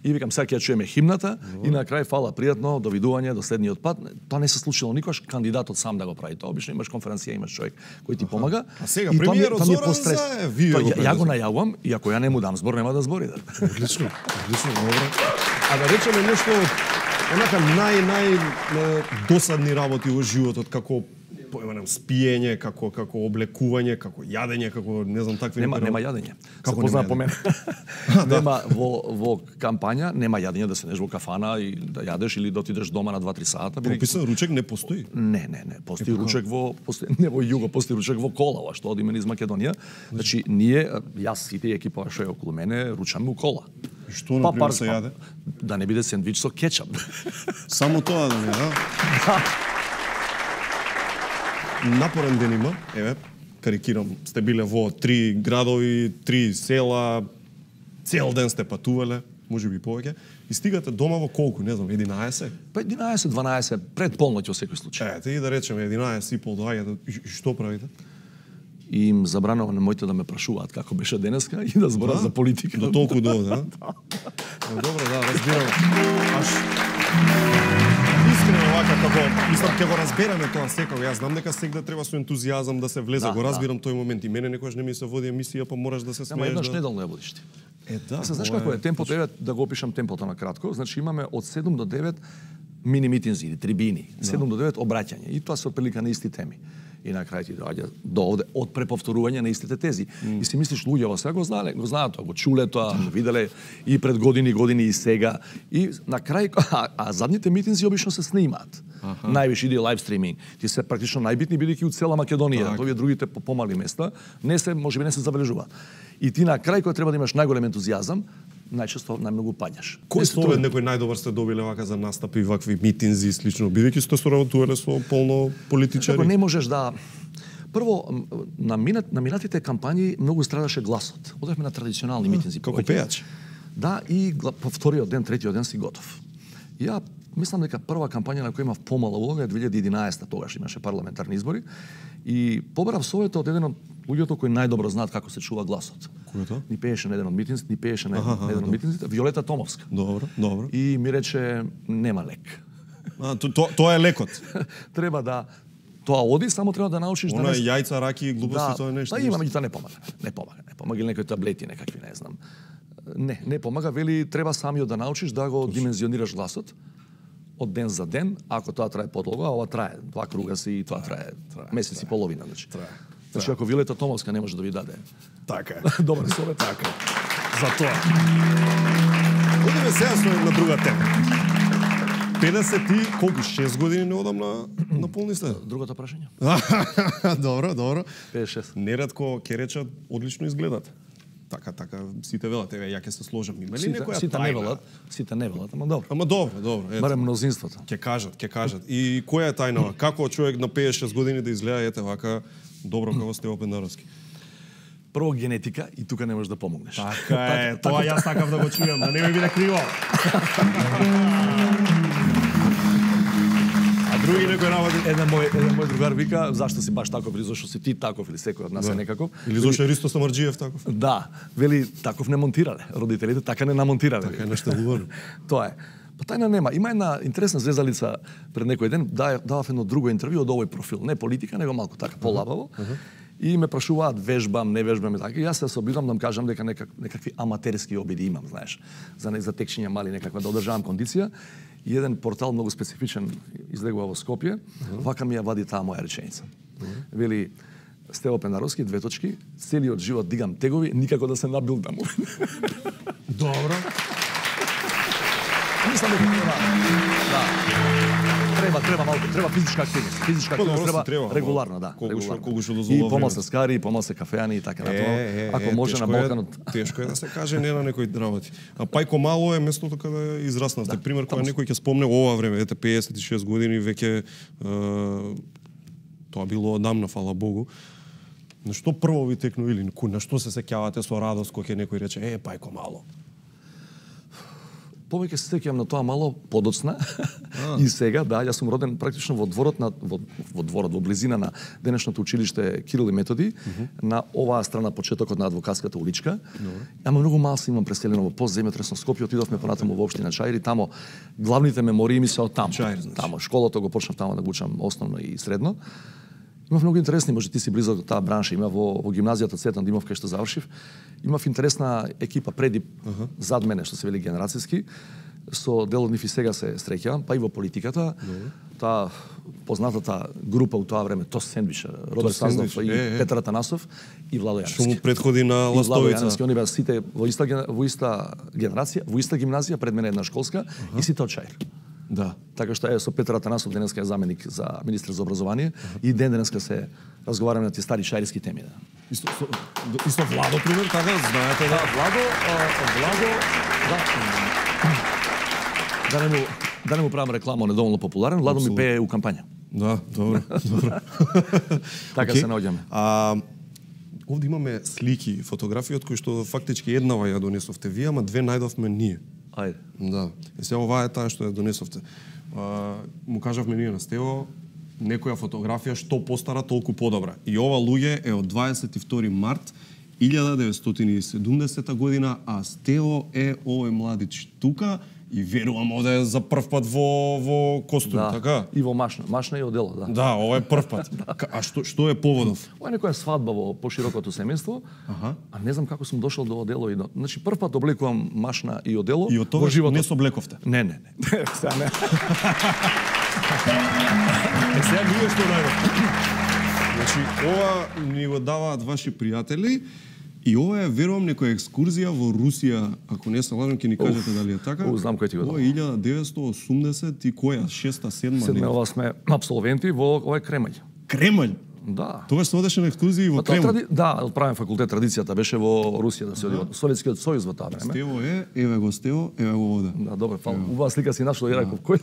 и викам, сега ќе ја чуеме химната, и на крај фала, пријатно, довидување, до следниот пат. Тоа не се случило никош, кандидатот сам да го прави тоа. Обично имаш конференција, имаш човек кој ти помага. А сега премиерот Зоран Заев, вие го ја го најавувам, и ако ја не му дам збор, нема да збори. Одлично, одлично, добро. А да речеме нешто онака нај нај досадни работи во животот, како појманам спиење, како како облекување, како јадење, како не знам такви нема некои нема јадење. Како се познава по мене. Нема во во кампања нема јадење да седнеш во кафана и да јадеш или да отидеш дома на два-три сата. Прописан ручек не постои. Не, не, не, постои ручек во постои не во југо, постои ручек во кола, што одиме низ Македонија. Значи ние, јас сите екипа што е околу мене, ручаме у кола. И што на пример се јаде? Да не биде сендвич со кетчап. Само тоа да не, да? Напорен ден има, еве, карикирам, сте биле во три градови, три села, цел ден сте патувале, може би повеќе, и стигате дома во колку, не знам, единаесет? Па единаесет дванаесет, пред полноќ во секој случај. Ете, и да речеме единаесет и пол доаѓате, и што правите? И им забранувам немојте да ме прашуваат како беше денеска и да зборат да? за политика. До толку до, да? Добро, да, разбирам. Аш искрено вака како мислам ќе го разбереме тоа секој. Јас знам дека секогаш треба со ентузијазам да се влезе, да, го разбирам да. тој момент и мене некогаш не ми се води емисија, па мораш да се смееш. Ама еднаш да... неделно ја водиш ти. Е, да. Се знаеш како е темпото, еве да го опишам темпото на кратко. Значи имаме од седум до девет мини митинзи или трибини, седум до девет обраќање и тоа се отприлика на исти теми. И на крај ти доаѓа до овде од преповторување на истите тези. Mm. И си мислиш луѓето сега го знаеле, го знаат тоа, го чуле тоа, го виделе и пред години, години и сега. И на крај а, а задните митинзи обично се снимаат. Аха. Највише иде лайв стриминг. Ти се практично најбитни бидејќи од цела Македонија, овие другите по помали места не се можеби не се забележуваат. И ти на крај кога треба да имаш најголем ентузијазам, најчесто најмногу паѓаш. Кој совет некој најдобар сте добиле вака за настапи, вакви митинзи слично, бидејќи сте соработувале со полно политичари? Како не можеш да прво на минат на минатите кампањи многу страдаше гласот. Одевме на традиционални а, митинзи како пејач. Да, и по вториот ден, третиот ден си готов. Ја мислам дека прва кампања на која имав помала улога е две илјади и единаесета, тогаш имаше парламентарни избори и побарав совет од еден од луѓето кои најдобро знаат како се чува гласот. Кој е тоа? Ни пееше на еден од митинзите, ни пееше на еден од митинзите, Виолета Томовска. Добро, добро. И ми рече нема лек. А, то, то, тоа е лекот. Треба да тоа оди, само треба да научиш Она да не јајца, раки и глупости, да, тоа е нешто. Па има, меѓутоа не помага. Не помага, не помага или некои таблети некакви, не знам. Не, не помага, вели треба самиот да научиш да го димензионираш гласот од ден за ден, ако тоа трае подолго, а ова трае два круга си и тоа трае, трае месец трае, и половина, значи. Трае. Значи ако Вилета Томовска не може да ви даде. Така е. Добар совет, така. За тоа. Одиме сега со на друга тема. педесет и колку шест години не одам на на полни сте. Другото прашање. Добро, добро. педесет и шест. Неретко ќе речат одлично изгледат. така, така, сите велат, еве, ја ќе се сложам. Има ли Сите, некоја сите не тајна? велат, сите не велат, ама добро. Ама добро, добро. ето. Барем мнозинството. Ќе кажат, ќе кажат. И која е тајнава? Како човек на петдесет и шест години да изгледа ете вака добро како Стево Пендаровски? Прво генетика и тука не можеш да помогнеш. Така е, тоа јас сакав да го чујам, да не ми биде криво. А други некој работи, еден мој еден мој другар вика, зашто си баш таков, или зашто си ти таков или секој од нас е некаков. Или зашто е Ристо Самарџиев таков? Да, вели таков не монтирале. Родителите така не намонтирале. Така е наштелувано. Тоа е. Па тајна нема. Има една интересна зезалица пред некој ден, давав едно друго интервју од овој профил, не политика, него малку така полабаво. И ме прашуваат вежбам, не вежбам и така. И јас се обидам да им кажам дека некак, некакви аматерски обиди имам, знаеш, за не за текчиња мали некаква да одржавам кондиција. И еден портал многу специфичен излегува во Скопје, вака ми ја вади таа моја реченица. Вели Стево Пендаровски, две точки, целиот живот дигам тегови, никако да се набилдам. Добро. Мислам дека треба, да. Треба, треба малку, треба физичка активност. Физичка активност треба, треба регуларно, да. Колку што И помал се скари, помал се кафеани и така натаму. Ако може на Балканот. Тешко е да се каже не на некои работи. А Пајко Мало е местото каде израснавте. Да, пример кога некој ќе спомне ова време, ете педесет и шест години веќе тоа било одамна, фала Богу. На што прво ви текну или на што се сеќавате со радост кога ќе некој рече е Пајко Мало? Повеќе се сеќавам на тоа мало подоцна и сега, да, јас сум роден практично во дворот на во, во дворот во близина на денешното училиште Кирил и Методи, mm -hmm. на оваа страна почетокот на Адвокатската уличка. No. Ама многу мал се имам преселено во постземјотресно Скопје, отидовме понатаму во општина Чаир, тамо главните мемории ми се од таму. Чаир, значи. Тамо школото го почнав тамо да го учам основно и средно. Има многу интересни, може ти си близок до таа бранша, има во, во гимназијата Цветан Димов кај што завршив. Имав интересна екипа преди, uh -huh. зад мене, што се вели генерацијски. Со дел од нив и сега се среќавам, па и во политиката. Uh -huh. Таа познатата група у тоа време, Тос Сендвич, Родер Сазнов и е, е. Петар Атанасов и Владо Јаневски. Што му предходи на Ластовица. Јаневски, они беа сите во иста, во иста генерација, во иста гимназија, пред мене една школска, uh -huh. и сите од Чаир. Да. Така што е со Петар Атанасов денеска е заменик за министер за образование uh-huh. и ден денеска се разговараме на тие стари шаирски теми. Да. Исто, со, исто Владо, пример, така, знаете да? Владо, а, Владо, да. Да не му, да не му правам реклама, он е доволно популарен, Владо ми пее у кампања. Да, добро, добро. Така okay. се наоѓаме. А, овде имаме слики, фотографии од кои што фактички еднава ја донесовте вие, ама две најдовме ние. Ајде. Да. И се ова е таа што ја донесовте. А, му кажавме ние на Стево, некоја фотографија што постара толку подобра. И ова луѓе е од дваесет и втори март илјада деветстотини и седумдесета година, а Стево е овој младич тука и верувам овде за прв пат во во костум, да. така? И во машна, машна и одело, да. Да, ова е прв пат. А што што е поводов? Ова е некоја свадба во поширокото семејство. Аха. А не знам како сум дошол до одело и до... Значи прв пат облекувам машна и одело. И од тогаш не се облековте? Не, не, не. Сега не. Е, сега ние што најдов. Значи, ова ни го даваат ваши пријатели и ова е, верувам, некоја екскурзија во Русија, ако не се лажам, ќе ни кажете дали е така. О, знам кој ти го дава. Ова е илјада деветстотини и осумдесет и која? Шеста, седма? Седма, ова сме абсолвенти во ова е Кремљ. Кремљ? Да. Тогаш се одеше на екскурзија во Кремљ? Тради... Да, од правен факултет традицијата беше во Русија да се оди, во Советскиот сојуз во таа време. Стево е, еве го Стево, еве го овде. Да, добро, фала. Убава слика си нашол и реков кој.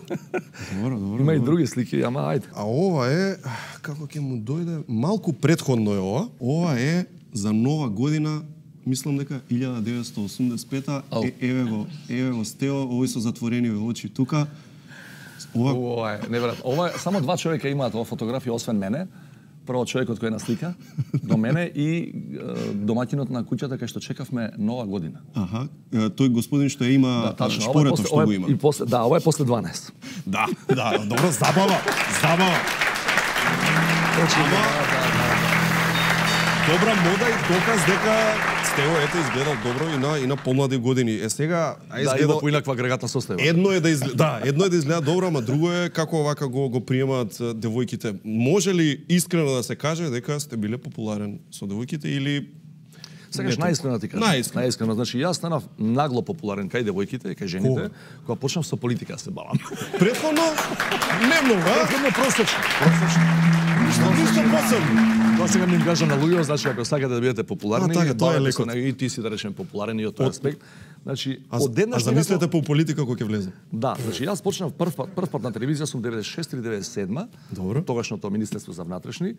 Добро, добро. Има и други слики, ама ајде. А ова е, како ќе му дојде, малку претходно е ова. Ова е за нова година, мислам дека илјада деветстотини и осумдесет и пета, е, еве го, еве го Стево, овој со затворени очи тука. Ова, ова е, неверојатно. Ова е, само два човека имаат ова фотографија освен мене. Прво човекот кој е на слика до мене и е, домаќинот на куќата кај што чекавме нова година. Аха, тој господин што ја има, да, шпорето што го има. И после, да, ова е после дванаесет. Да, да, добро, забава, забава. Ама, добра мода и доказ дека Стево ете изгледал добро и на и на помлади години. Е сега а изгледал да, и да поинаква агрегатна состава. Едно е да изгледа, да, едно е да изгледа добро, ама друго е како овака го го приемаат девојките. Може ли искрено да се каже дека сте биле популарен со девојките или Сегаш најискрено ти кажам. Најискрено. Најискрено, значи јас станав нагло популарен кај девојките, кај жените, кога почнав со политика да се бавам. Претходно не многу, а? Претходно просечно. Просечно. Ништо ништо посебно. Тоа сега ми им кажам на луѓето, значи ако сакате да бидете популарни, а, така, тоа е леко. И ти си да речем популарен и од тој аспект. Значи, а, од еднаш а замислете по политика кога ќе влезе? Да, значи јас почнав прв пат, прв пат на телевизија сум деветдесет и шеста или деветдесет и седма. Добро. Тогашното Министерство за внатрешни.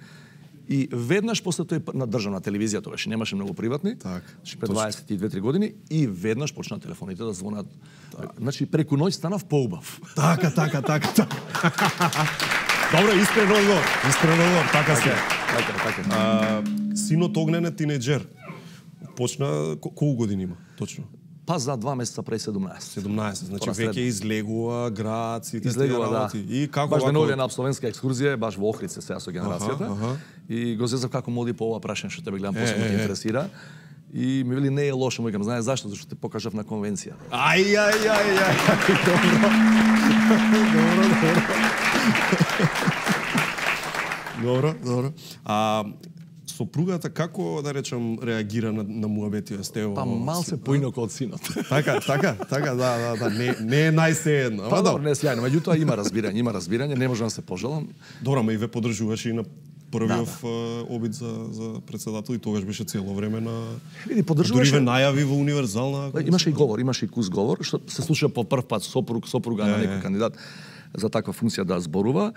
И веднаш после тој на државна телевизија, тогаш немаше многу приватни, так, пред дваесет и две-три години, и веднаш почна телефоните да звонат. Так. Значи преку ноќ станав поубав. Така, така, така, така. Добро, искрен одговор. Искрен одговор, така се. Така, така. А, синот Огнен е тинејџер. Почна колку години има точно? Па за два месеца пред седумнаесет. седумнаесет, значи веќе излегува град, сите излегува, да. И како баш вако... деноле на абсолвентска екскурзија, баш во Охрице сега со генерацијата. Аха, аха. И го зезав како моди по ова прашање што тебе гледам посебно ме интересира. И ми вели не е лошо, му викам, знаеш зашто? Зашто те покажав на конвенција. Ај, ај, ај, ај. Добро. Добро, добро. Добро, добро. А сопругата како да речам реагира на, на муабетија сте? Па малце поинако од синот. Така, така, така, да, да, да, не не е најсеедно. Па добро, не е сјајно, меѓутоа има разбирање, има разбирање, не можам да се пожалам. Добро, ма и ве поддржуваше и на првиот да, да. обид за за председател и тогаш беше цело време на Види, поддржуваше. Дури ве најави во универзална. Имаше и говор, имаше и кус говор, што се слуша по прв пат сопруг, сопруга на некој кандидат за таква функција да зборува.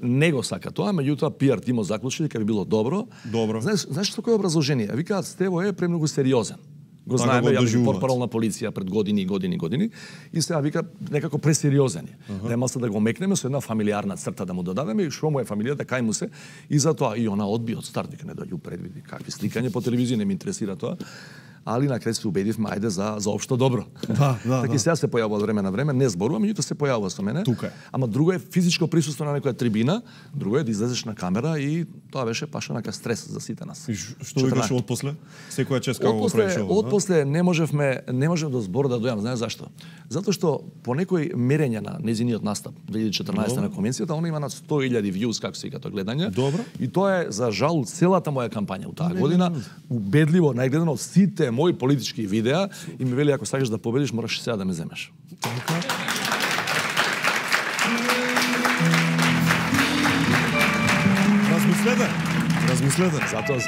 Не го сака тоа, меѓутоа пиар тимо заклучи дека би било добро. Добро. Знаеш, знаеш што кој образложение? Викаат Стево е премногу сериозен. Го знаеме, ја би портпарол на полиција пред години и години и години. И сега вика некако пресериозен е. Uh-huh. Нема се да го мекнеме со една фамилиарна црта да му додадеме и што му е фамилијата, кај му се. И затоа и она одби од старт, вика не доаѓу предвиди какви сликање по телевизија, не ми интересира тоа. Али на крај се убедивме ајде за за општо добро. Да, да, така да. И сега се појавува од време на време, не зборува, меѓутоа се појавува со мене. Тука е. Ама друго е физичко присуство на некоја трибина, друго е да излезеш на камера и тоа беше пашанака стрес за сите нас. И што викаш од после? Секоја чест како го правиш ова? Од после не можевме, не можев до збор да дојам, знаеш зашто? Затоа што по некој мерење на нејзиниот настап две илјади и четрнаесета на конвенцијата, она има над сто илјади views како се вика тоа гледање. Добро. И тоа е за жал целата моја кампања у таа година, убедливо најгледано од сите мои политички видеа и ми вели ако сакаш да победиш мораш сега да ме земеш. Размислете. Размислете. Затоа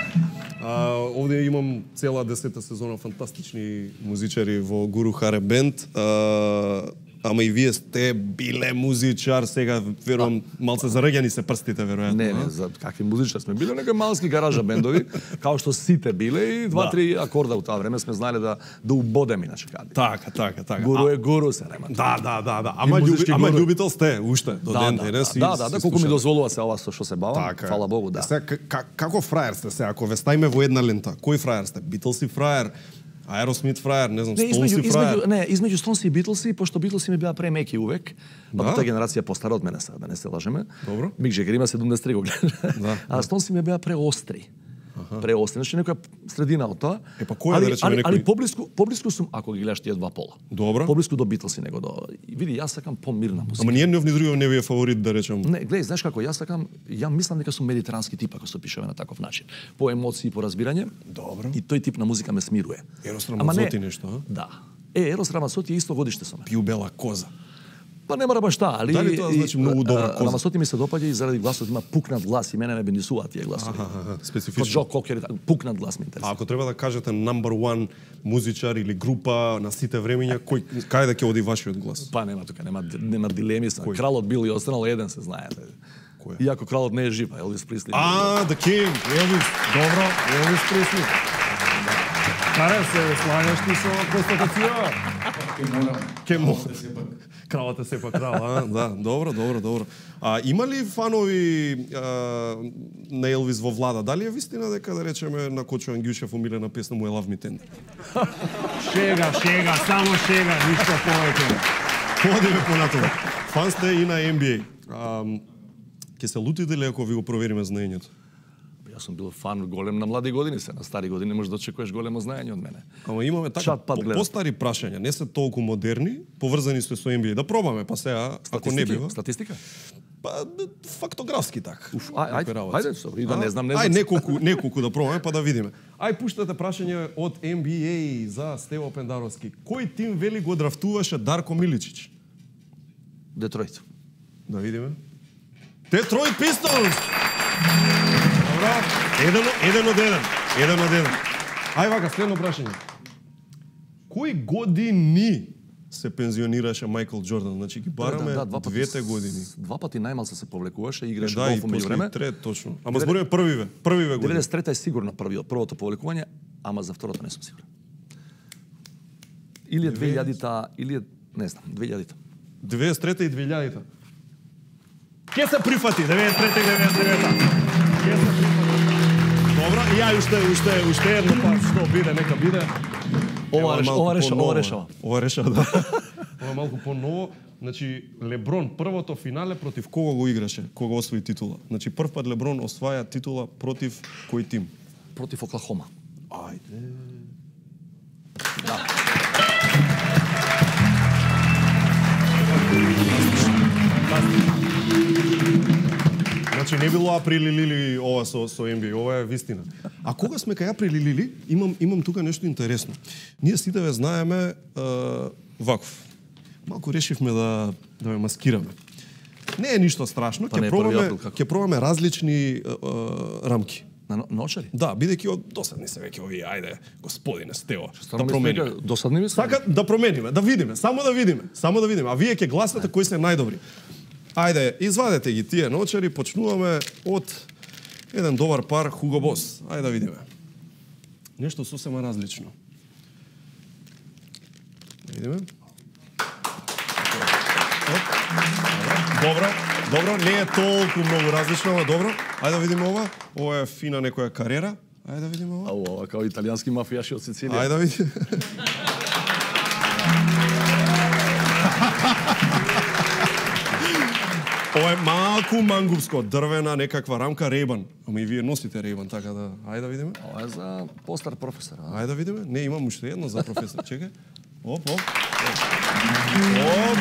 А, овде имам цела десета сезона фантастични музичари во Гуру Харе Бенд. А, ама и вие сте биле музичар, сега верувам малце зареѓани се прстите веројатно. Не, не, за какви музичари сме биле, некои малски гаража бендови, као што сите биле и два-три да. акорда у тоа време сме знаеле да да убодеме иначе каде. Така, така, така. Гуру е гуру се нема. Да, да, да, да. Ама љуби, ама љубител сте уште до да, ден да, денес. Да, да, да, колку ми дозволува се ова со што се бавам, така, фала Богу, да. Сега како фраер сте се, ако ве ставиме во една лента, кој фраер сте? Битлси фраер, Аеросмит фраер, не знам, Стоунси фраер. Не, измеѓу Стоунси и Битлси, пошто Битлси ми беа премеки увек, па да? таа генерација постара од мене сега, да не се лажеме. Добро. Мик Джегер има седумдесет и три го гледа. Да. А Стоунси ми беа преостри. Ага. Преостри, значи некоја средина од тоа. Е па кој али, да речеме али, некој? али поблиску, поблиску сум, ако ги гледаш тие два пола. Добро. Поблиску до Битлси него до. Види, јас сакам помирна музика. Ама ние не ни другиот не ви е фаворит да речам. Не, гледај, знаеш како, јас сакам, ја мислам дека сум медитерански тип ако се пишеме на таков начин. По емоции, по разбирање. Добро. И тој тип на музика ме смирува. Ерос Рамазоти нешто, а? Да. Е, Ерос Рамазоти е исто годиште со мене. Пиу бела коза. Па не мора баш таа, али Дали тоа значи многу добра коза? Рамазоти ми се допаѓа и заради гласот има пукнат глас и мене ме бенисуваат тие гласови. Аха, специфично. Джо Кокер, пукнат глас ми интересува. А ако треба да кажете number one музичар или група на сите времиња, кој кај да ќе оди вашиот глас? Па нема тука, нема нема дилеми, са. Кралот бил и останал еден се знае. Кој? Иако кралот не е жив, Елвис Пресли. А, the king, Елвис. Добро, Елвис Пресли. Кара се слагаш ти со констатација? Ке мора. Ке мора. Кралот е сепак крал, а? Да, добро, добро, добро. А има ли фанови а, на Елвис во влада? Дали е вистина дека да речеме на Кочо Ангјушев омилена песна му е Love Me Tender? Шега, шега, само шега, ништо повеќе. Одиме понатаму. Фан сте и на Н Б А. Ке се лутите ли ако ви го провериме знаењето? Јас сум бил фан голем на млади години, се на стари години можеш да очекуваш големо знаење од мене. Ама имаме така по, постари прашања, не се толку модерни, поврзани се со Н Б А. Да пробаме, па сега, ако не бива. Статистика? Па фактографски така. Уф, ај, ајде, ајде, сори, да не знам, не знам. Ај неколку, неколку да пробаме па да видиме. Ај пуштате прашање од Н Б А за Стево Пендаровски. Кој тим вели го драфтуваше Дарко Миличич? Детройт. Да видиме. Детройт Пистонс. Добро. Еден, еден од еден. Еден од еден. Ај вака, следно прашање. Кои години се пензионираше Мајкл Џордан? Значи ги бараме да, да, двете години. Два пати најмалку се повлекуваше, играше да, голф меѓу време. Трет, точно. Ама збориме првиве, првиве години. деветдесет и трета е сигурно првиот, првото повлекување, ама за второто не сум сигурен. Или е две илјадите, или е, не знам, две илјадите. деветдесет и трета и две илјадите. Ке се прифати, деветдесет и трета и деветдесет и девета. Ке се прифати. Добро, и ја уште, уште, уште едно, па што биде, нека биде. Ова решава, ова решава, ова решава. Ова решава, да. Ова малку по-ново. Значи, Леброн, првото финале против кого го играше, кога освои титула? Значи, прв пат Леброн осваја титула против кој тим? Против Оклахома. Ајде. Да. Значи не било април или ова со со Н Б А, ова е вистина. А кога сме кај април или имам имам тука нешто интересно. Ние сите ве знаеме е, ваков. Малку решивме да да ме маскираме. Не е ништо страшно, ќе пробаме ќе пробаме различни е, е, рамки. На ночари? Да, бидејќи од досадни се веќе овие, ајде, господине Стево, да промениме. Досадни ми се? Сака да промениме, да видиме, само да видиме, само да видиме. А вие ќе гласате кои се најдобри. Ајде, извадете ги тие ночари, почнуваме од еден добар пар Хуго Бос. Ајде да видиме. Нешто сосема различно. Да видиме. Добро, добро, не е толку многу различно, ама добро. Ајде да видиме ова. Ова е фина некоја кариера. Ајде да видиме ова. Ау, ова као италијански мафијаши од Сицилија. Ајде да видиме. Ова е малку мангупско, дрвена некаква рамка Рейбан. Ама и вие носите Рейбан, така да... Ајде да видиме. Ова е за постар професор. Ајде да видиме. Не, имам уште едно за професор. Чекај. Оп, оп. Оп.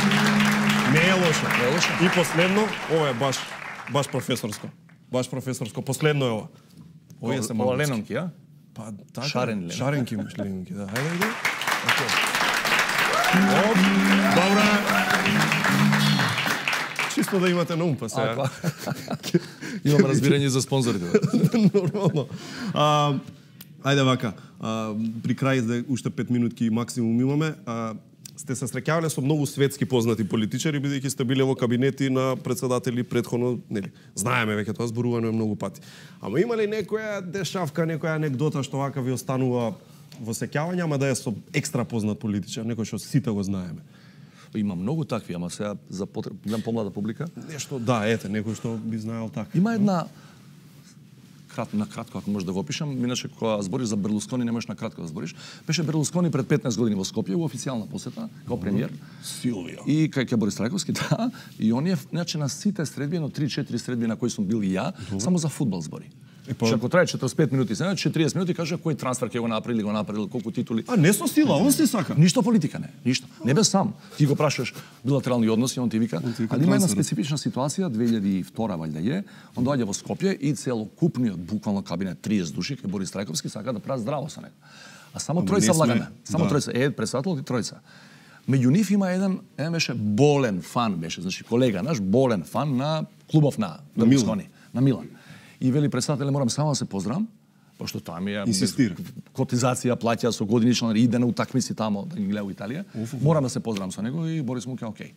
Не е лошо. Не е лошо. И последно, ова е баш баш професорско. Баш професорско. Последно е ова. Ова се ова Ленонки, а? Па така. Шарен Ленонки. Шаренки имаш Ленонки, да. Ајде да видиме. Окей. Оп. Добра. Чисто да имате на ум, па сега. Имам разбирање за спонзорите. Нормално. А, ајде вака, а, при крај, да уште пет минутки максимум имаме, а, сте се среќавале со многу светски познати политичари, бидејќи сте биле во кабинети на председатели претходно, нели, знаеме веќе тоа, зборувано е многу пати. Ама има ли некоја дешавка, некоја анекдота што вака ви останува во сеќавање, ама да е со екстра познат политичар, некој што сите го знаеме? Има многу такви, ама сега за потреб, гледам помлада публика. Нешто, да, ете, некој што би знаел така. Има една крат, на кратко, ако може да го опишам, иначе кога збориш за Берлускони, не можеш на кратко да збориш. Беше Берлускони пред петнаесет години во Скопје, во официјална посета, као премиер. Силвио. И кај Борис Трајковски, да. И он е, значи, на сите средби, едно три-четири средби на кои сум бил и ја, Добре. Само за фудбал збори. Па... Ако трае четиридесет и пет минути, се четиридесет минути кажа кој трансфер ќе го направи, го направил, колку титули. А не со сила, он се сака. Ништо политика не, ништо. Не бе сам. Ти го прашуваш билатерални односи, он ти вика. Али има една специфична ситуација, две илјади и втора валјда е, он доаѓа во Скопје и целокупниот буквално кабинет тридесет души кај Борис Трајковски сака да прават здраво со него. А само тројца влагаме. Само да. Тројца, е председател и тројца. Меѓу нив има еден, еден беше болен фан, беше, значи колега наш, болен фан на клубов на Берлускони, на Милан. И вели председателе, морам само да се поздравам, пошто тоа ми е инсистира. Котизација плаќа со годинична, иде на утакмици тамо да ги гледа во Италија. Уф, уф. Морам да се поздравам со него и Борис му ке окей.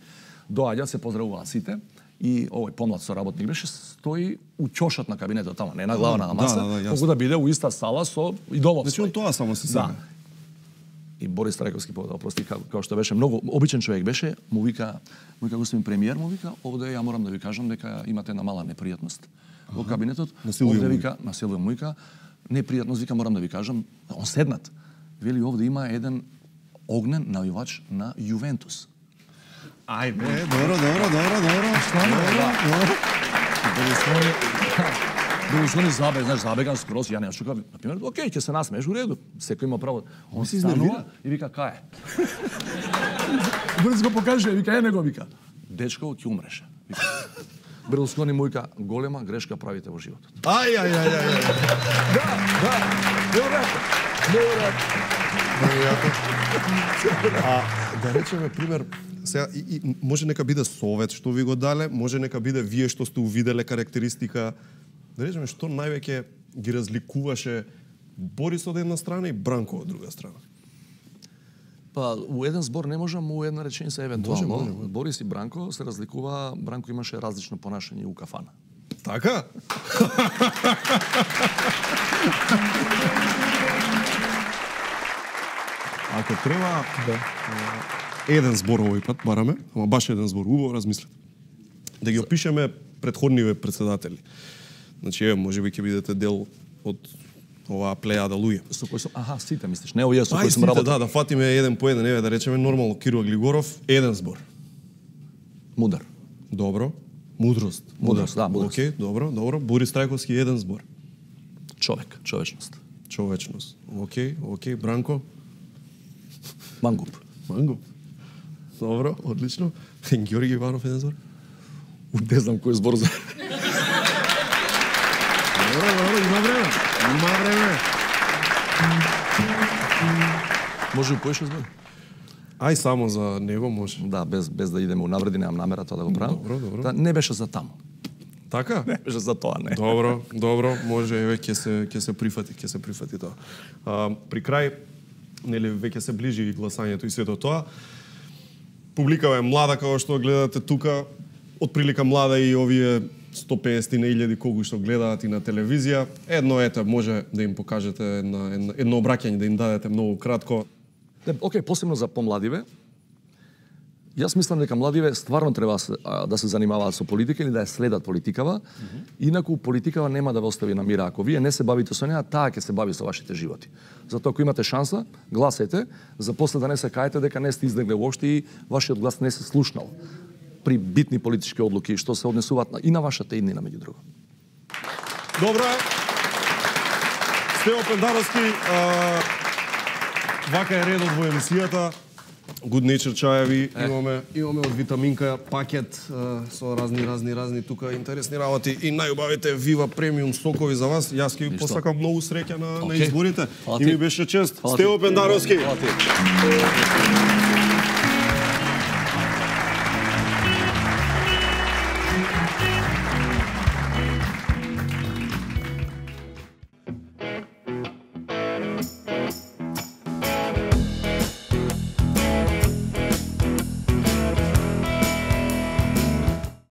Доаѓа, се поздравуваат сите и овој помлад соработник беше стои у ќошот на кабинетот тамо, не на главна на маса, да, да, колку да биде у иста сала со идолот. Значи он тоа само се сега. Да. И Борис Трајковски поведа, опрости, како што беше многу обичен човек беше, му вика, му вика господин премиер, му вика, овде ја морам да ви кажам дека имате една мала непријатност во кабинетот. Овде вика, на Силвио му вика, непријатност, вика, морам да ви кажам, он седнат. Вели, овде има еден огнен навивач на Јувентус. Ајде, добро, добро, добро, добро. Добро. Берлускони забег, знаеш, забеган скроз, ја не чукав, например, окей, ќе се насмееш у реду, секој има право. Он се станува и вика, кај е? Борис го покаже, вика, е него, вика. Дечко, ќе умреше. Берлускони му вика, голема грешка правите во животот. Ај, ај, ај, ај. Да, да, неверојатно. Неверојатно. А да речеме пример, сега и, и може нека биде совет што ви го дале, може нека биде вие што сте увиделе карактеристика. Да речеме што највеќе ги разликуваше Борис од една страна и Бранко од друга страна? Па, у еден збор не можам, у една реченица евентуално. Може, може, може. Борис и Бранко се разликува, Бранко имаше различно понашање у кафана. Така? Ако треба, да. еден збор овој пат бараме, ама баш еден збор, убаво размислете. Да ги опишеме предходниве председатели. Значи, еве, можеби ќе бидете дел од оваа плејада луѓе. Со кој сум, аха, сите мислиш, не овие со Ај, кои сум сите, работел. да, да фатиме еден по еден, еве да речеме нормално Киро Глигоров, еден збор. Мудар. Добро. Мудрост. Мудрост, да, мудрост. Океј, добро, добро. Борис Трајковски еден збор. Човек, човечност. Човечност. Океј, океј, Бранко. Мангуп. Мангуп. Добро, одлично. Ѓорги Иванов еден збор. Не знам кој збор за. Добро, добро, има време. Има време. Може поише збор? Ај само за него може. Да, без без да идеме унавреди, немам намера тоа да го правам. Добро, добро. Да, не беше за таму. Така? Не беше за тоа, не. Добро, добро, може еве ќе се ќе се прифати, ќе се прифати тоа. А, при крај, нели веќе се ближи и гласањето и сето тоа. Публикава е млада, како што гледате тука, отприлика млада и овие сто песет илјади колку што гледаат и на телевизија. Едно ете може да им покажете една, едно, едно обраќање, да им дадете многу кратко. Не, окей, посебно за помладиве. Јас мислам дека младиве стварно треба да се занимаваат со политика или да ја следат политикава. Mm-hmm. Инаку политикава нема да ве остави на мира. Ако вие не се бавите со неа, таа ќе се бави со вашите животи. Затоа ако имате шанса, гласете, за после да не се каете дека не сте издегле воопшто и вашиот глас не се слушнал при битни политички одлуки што се однесуваат и на вашата и на меѓу друго. Добро е. Стево Пендаровски, а, вака е редот во емисијата. Good Nature чаеви, е. имаме имаме од витаминка пакет а, со разни разни разни тука интересни работи и најубавите Viva премиум сокови за вас. Јас ќе ви посакам многу среќа на, okay. на изборите. И ми беше чест. Стево Пендаровски.